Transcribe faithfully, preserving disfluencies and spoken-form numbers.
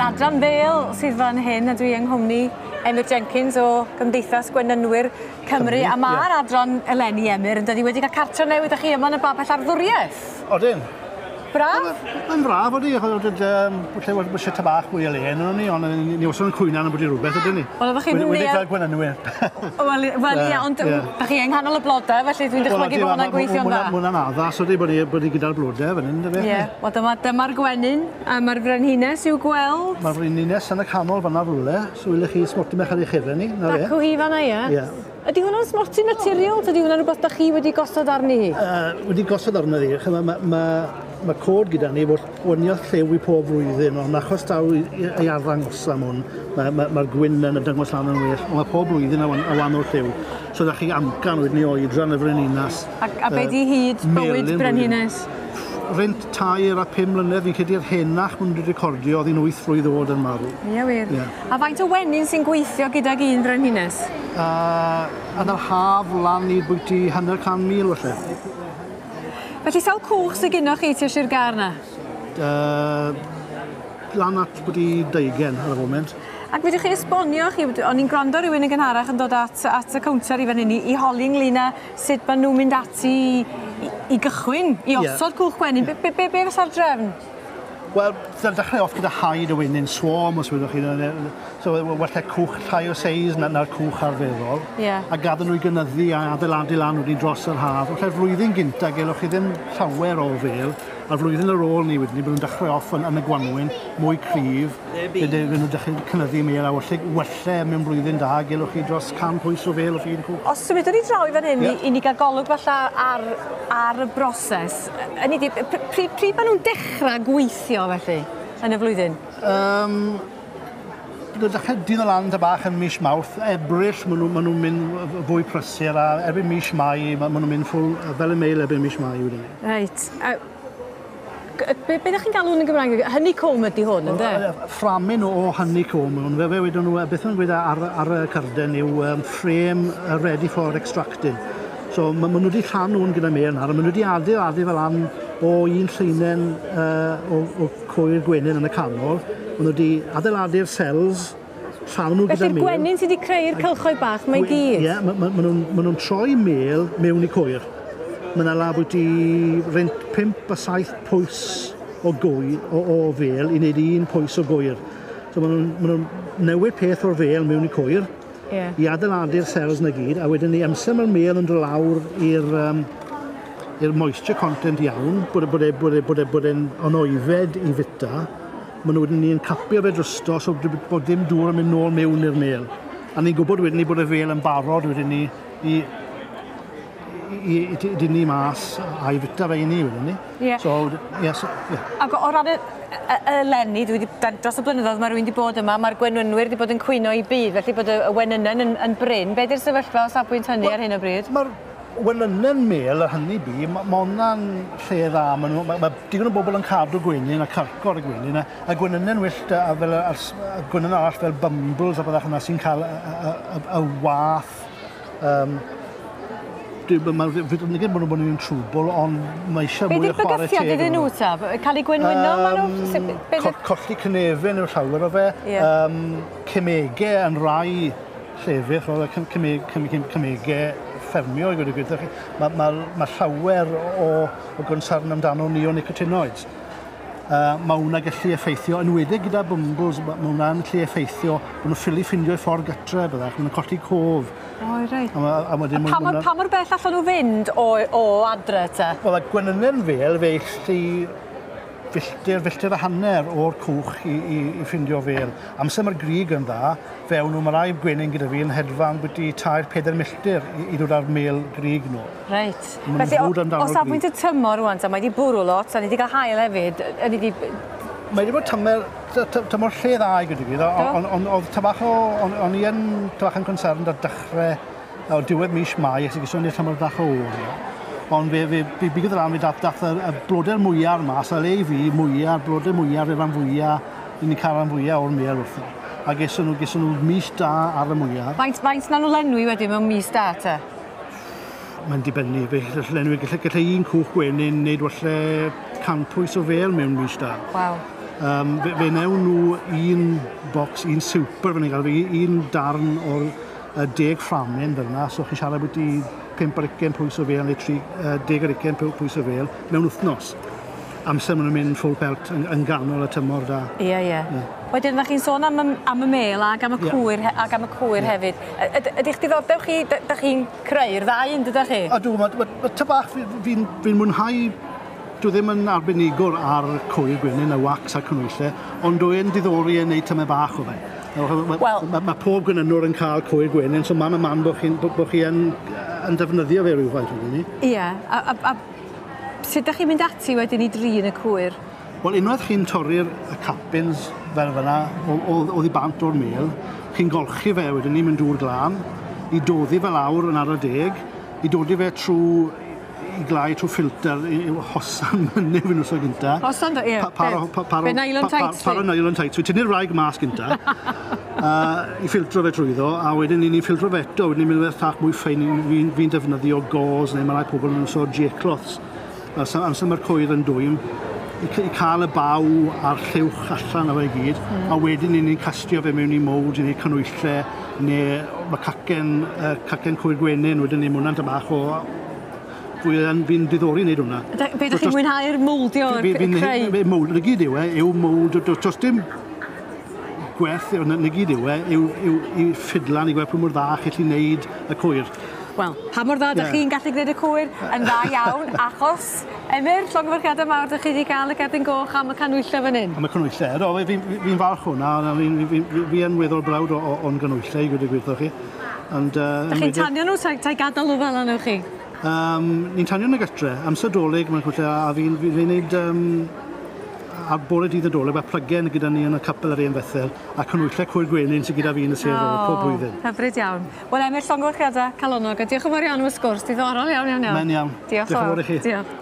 Adran Fêl sydd fan hyn, a dwi yng nghwmni Emyr Jenkins o Gymdeithas Gwenynwyr Cymru. Cymru, A ma'r ie. adran eleni, Emyr, yn dydi, wedi cael cartre newydd â chi yma yn y babell arddwriaeth. Odyn. Braf? Mae'n braf, odi, achos oedd um, lle wedi bod ta bach mwy o le yn ni, ond ni ni wastad yn cwyno am bod i rhywbeth, ydyn ni? Wel, oeddech chi'n Wedi wedi neuadd- fel gwenynwyr. Wel, wel ie, Ie, ond ie. da chi yng nghanol y blodau, felly dwi'n dychmygu bod hwnna'n gweithio'n dda. Mae hwnna'n addas, odi, bod ni, bod ni gyda'r blodau fan hyn, dyfe? Ie, wel dyma, dyma'r gwenyn, a mae'r frenhines i'w gweld. Mae'r frenhines yn y canol fan'na rhywle, so wylech chi smotyn bach ar ei chyfer ni, na fe. Dacw hi fan'na, ie? Ie. Ydy hwnna'n smotyn naturiol? Ydy hwnna'n rhywbeth da chi wedi gosod arni hi? Uh, wedi gosod arno ddi, ma, ma, ma, ma cod gyda ni fod gwaniaeth lliw i pob flwyddyn, ond achos daw i- i- ei arddangos am hwn, mae'r ma, ma gwyn yn y dangos lan yn well, ond mae pob blwyddyn a, wan, a wahanol lliw. So da chi amcan wedyn i oedran y frenhinas. A, a be di hyd bywyd melyn brenhines? Rhynt tair a pum mlynedd, fi'n credu'r henach maen nhw wedi recordio, oedd hi'n wyth flwydd oed yn marw. Ie, wir. Ie. A faint o wenyn sy'n gweithio gydag un frenhines? Uh, yn yr haf lan i bwyty hanner can mil felly. Felly sawl cwch sydd gynnwch chi tua Sir Gâr na? Uh, lan at bwyty deugen ar y foment. Ac fedrwch chi esbonio chi, o'n i'n gwrando rhywun yn gynharach yn dod at, at y cownter i fan hyn i, i holi ynglyn â sut maen nhw'n mynd ati i, i, i gychwyn, i Ie. osod cwch gwenyn. Be, be, be, be fysa'r drefn? Wel, dechrau off gyda haid o wenyn, swarm os wyddoch chi. So, wella cwch llai o seis na'r na cwch arferol. Ie. A gadw nhw i gynyddu a adeiladu lan wedyn dros yr haf. Felly'r flwyddyn gynta gelwch chi ddim llawer o fel. A'r flwyddyn ar ôl ni wedyn, bod nhw'n dechrau off yn, yn y gwanwyn, mwy cryf. Fydde nhw'n dechrau cynyddu mel a wella, wella mewn blwyddyn da, gelwch chi dros can pwys o fel o un cwch. Os symudwn ni draw i fan hyn Ie. i, i ni gael golwg falle ar, ar y broses, hynny ydi, pryd, pryd maen nhw'n dechrau gweithio felly yn y flwyddyn? Um, Nhw'n dechrau dyn lan ta bach yn mis Mawrth, Ebrill, maen nhw'n ma nhw mynd fwy prysur a erbyn mis Mai, maen nhw'n mynd full, fel y meil erbyn mis Mai wedyn. Reit. A, g- be, be ddech chi'n galw hwn yn Gymraeg? Honeycomb ydy hwn, ynddo? Fframyn o honeycomb. Fe fe wedyn nhw, beth nhw'n gweud ar, ar y carden yw um, frame uh, ready for extracting. So ma, ma nhw wedi llanw hwn gyda mel nawr, a ma nhw wedi adeiladu fel lan o un lleinen uh, o, o cwyr gwenyn yn y canol. Ma nhw wedi adeiladu'r cells, llanw nhw gyda Felly'r mel. gwenyn sydd wedi creu'r cylchoedd bach, mae gyd? Ie, ma, ma, ma nhw'n ma nhw'n troi mel mewn i cwyr. Mae yna la bwyty rhynt pump a saith pwys o gwy, o, o fel i wneud un pwys o gwyr. So maen nhw'n ma nhw newid peth o'r fel mewn i cwyr, Ie. i adeiladu'r cells na gyd, a wedyn ni amser mae'r mel yn dod lawr i'r um, i'r moisture content iawn, bod e, bod e, bod e, bod e, bod e'n onoifed i fita, maen nhw wedyn ni'n capio fe drosto so bod dim dŵr yn mynd nôl mewn i'r mel. A ni'n gwybod wedyn ni bod y fel yn barod wedyn ni i, i, i, i dynnu mas a i fita fe i ni wedyn ni. Ie. So, ie, so, ie. Ac o ran y, y, y eleni, dwi wedi, dros y blynyddoedd mae rhywun wedi bod yma, mae'r gwenwynwyr wedi bod yn cwyno i byd, felly bod y, y wenynen yn, yn brin. Be di'r sefyllfa o safbwynt hynny ar hyn o bryd? Mae'r wenynen mel a hynny bu, ma, ma hwnna'n lle dda. Ma, nhw, ma, ma digon o bobl yn cadw gwenyn a carcor y gwenyn, a, a gwenynen wyllt a, a fel a, a gwenyn arall fel bumbles a byddach yna sy'n cael y, y, y, y wath. Um, Nid bod nhw'n trwbl, ond mae eisiau Be mwy o di'r chwarae bygythiad teg iddyn nhw ta? Cael eu gwenwyno um, maen nhw? Sut- be' Co 'di'r- colli cynefin yw'r llawer o fe. Ie. Um, cemege yn rai llefydd, roedd y cym- ceme- cym- cym- cemege ffermio i gweud y gwir. Mae ma, ma llawer o, o gonsern amdano neonicotinoids. Uh, mae hwnna gallu effeithio, yn enwedig gyda bumbles, ma' ma' hwnna'n gallu effeithio, bod nhw'n ffili ffindio eu ffordd gytre, byddach, maen nhw'n colli cof. O, reit. A, ma, a wedyn Pa mor, pa mor bell allan nhw fynd o, o adre te? Wel, y gwenynen fel fe allu filltir, filltir a hanner o'r cwch i, i, i ffindio fel. Amser mae'r grig yn dda, fewn nhw, mae rai gwenyn gyda fi yn hedfan bwyty tair, pedair milltir i, i ddod ar mel grig nhw. Reit. Ma' nhw'n Felly, frwd o, amdano'r o safbwynt y tymor rŵan, ta, mae wedi bwrw lot, a ni wedi cael haul hefyd. Ydy di... Mae wedi bod tymor, tymor lle dda i gyda fi, ond on, oedd ta bach o, on, o'n i yn ta bach yn concerned ar dechrau, o diwedd mis Mai, ac gyson ni'r tymor bach o oer. Ond fe, fe, fe bigodd lan, fe dath, dath y, y blodau'r mwyar mas, a le i fi, mwyar, blodau mwyar, fe ran fwyaf, i ni cael ran fwyaf o'r mel wrtho. A geson nhw, geson nhw mis da ar y mwyar. Faint, faint na nhw lenwi wedyn mewn mis da te? Mae'n dibynnu, fe gallu lenwi, gallai, gallai un cwch gwenyn wneud falle can pwys o fel mewn mis da. Waw. Um, fe, fe newn nhw un box, un super fan i'n gael, un darn o'r uh, deg fframyn fel yna, so chi'n siarad bwyty pump ar ugain pwys o fel neu tri, uh, deg ar ugain pwys o fel mewn wythnos. Amser maen nhw'n mynd full pelt yn, yn ganol y tymor da. Ie, ie. Yeah. Wedyn, ddech chi'n sôn am, y, am y mel ac am y yeah. cwyr, ac am y cwyr yeah. hefyd. Ydych diddordeb chi, ydych chi'n creu'r ddau yn dydych chi? Ydw, mae ma, ma, ta bach fi'n fi, fi mwynhau. Dwi ddim yn arbenigwr ar cwyr gwenyn, y wax a'r canhwyllau, ond dwi'n diddori yn neud tymed bach o fe. Mae well, ma, ma pob gwenynwr yn cael cwyr gwenyn, so man y man bod chi'n bo chi yn, yn defnyddio fe rhywfaint wedyn ni. Ie, yeah, a, a, a sut ydych chi'n mynd ati wedyn i drin y cwyr? Wel, unwaith chi'n torri'r capins fel fyna, oddi bant o'r mel, chi'n golchi fe wedyn ni mewn dŵr glân, i doddi fe lawr yn ar y deg, i dodi fe trwy i glau trwy ffilter, i hosan mynydd fi'n wrth gynta. Hosan, ie. Be nylon tights. Par o nylon tights. Fi tynnu'r wraig mas gynta, uh, i ffiltro fe trwyddo, a wedyn ni'n ffiltro fe eto, wedyn ni'n mynd fe thach mwy ffein, fi'n fi defnyddio gauze, neu mae rai pobl yn so J-cloths. Amser mae'r cwyr yn dwym, i, i cael y baw a'r llewch allan o fe i gyd, mm. a wedyn ni'n castio fe mewn i mould, i neud canhwyllau, neu mae cacen, uh, cacen cwyr gwenyn, wedyn ni, mae hwnna'n bach o... Fi'n fi diddori wneud hwnna. Be ydych chi'n mwynhau'r mowldio, o'r creu? Mould, na gyd yw e, yw mould, does dim gwerth, na gyd yw e, yw, yw, yw ffidlan i gweld pwy mor dda chi'n gallu wneud y cwyr. Wel, pa mor dda ydych chi'n gallu gwneud y cwyr? Yn dda iawn, achos, Emyr, llongyfarchiadau mawr, ydych chi wedi cael y cerdyn goch am y canhwyllau fan hyn. Am y canhwyllau, do, fi'n fi, fi falch hwnna, fi'n fi, fi, fi yn weddol browd o'n ganhwyllau i gweud y gwir chi. And, uh, Dych chi'n tanio nhw, ta'i gadael nhw fel yna chi? Um, ni'n tanio yn y gytre, amser Dolig, mae'n cwrdd, a fi'n fi, fi wneud, um, ar bore dydd y Dolig, mae plygen gyda ni yn y capel ar un Fethel, a canhwyllau cwyr gwenyn sydd gyda fi yn y sedd oh, pob blwyddyn. Hyfryd iawn. Wel, Emyr, llongyfarchiadau calonnog, a diolch yn fawr iawn am y sgwrs, diddorol iawn, iawn, iawn. Mae'n iawn. Diolch, diolch yn fawr i chi. Diolch.